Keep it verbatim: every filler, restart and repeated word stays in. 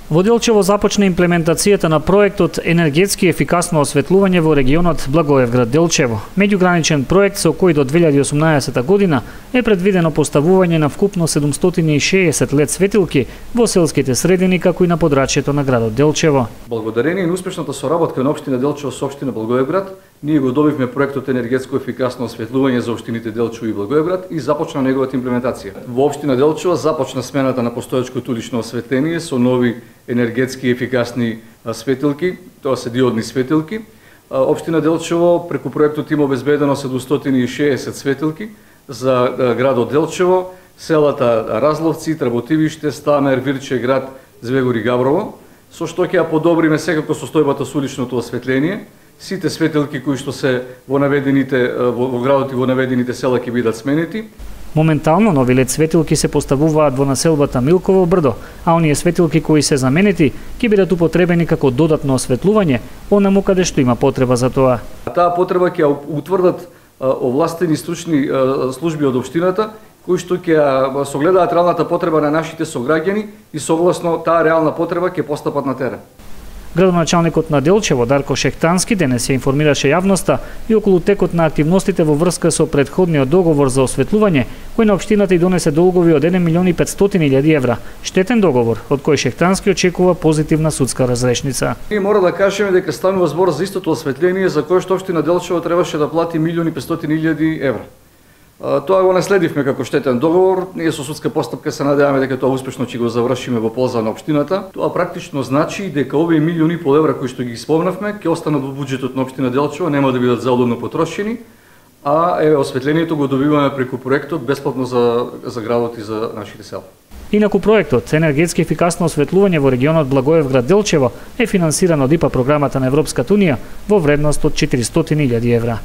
Во Делчево започна имплементацијата на проектот енергетски ефикасно осветлување во регионот Благоевград Делчево. Меѓуграничен проект со кој до две илјади и осумнаесета година е предвидено поставување на вкупно седумстотини и шеесет лед светилки во селските средини како и на подрачјето на градот Делчево. Благодарение на успешната соработка на општина Делчево со општина Благоевград, ние го добивме проектот енергетско ефикасно осветлување за општините Делчево и Благоевград и започна неговата имплементација. Во општина Делчево започна смената на постоечкото улично осветление со нови енергетски ефикасни светилки, тоа се диодни светилки. Општина Делчево преку проектот има обезбедено седумстотини и шеесет светилки за градот Делчево, селата Разловци, Тработивиште, Стамер, Вирче, град Звегор и Габрово, со што ќе ја подобриме секако состојбата со уличното осветление. Сите светилки кои што се во наведените во, во градот и во наведените села ќе бидат сменети. Моментално нови лед светилки се поставуваат во населбата Милково брдо, а оние светилки кои се заменети ќе бидат употребени како додатно осветлување онаму каде што има потреба за тоа. Таа потреба ќе утврдат овластени стручни служби од општината кои што ќе согледаат реалната потреба на нашите сограѓани и согласно таа реална потреба ќе постапат на терен. Градоначалникот на Делчево Дарко Шехтански денес ја информираше јавноста и околу текот на активностите во врска со претходниот договор за осветлување, кој на општината и донесе долгови од еден милион и петстотини илјади евра. Штетен договор, од кој Шехтански очекува позитивна судска разрешница. Ние мора да кажеме дека станува збор за истото осветление за кое што општина Делчево требаше да плати милион и петстотини илјади евра. Тоа го наследивме како штетен договор, ние со судска постапка се надеваме дека тоа успешно ќе го завршиме во полза на општината. Тоа практично значи дека овие милиони и пол евра кои што ги спомнавме ќе останат во буџетот на општина Делчево, нема да бидат залудно потрошени, а еве осветлението го добиваме преку проектот бесплатно за за градот и за нашите села. Инаку проектот енергетски ефикасно осветлување во регионот Благоевград Делчево е финансиран од ИПА програмата на Европската унија во вредност од четиристотини илјади евра.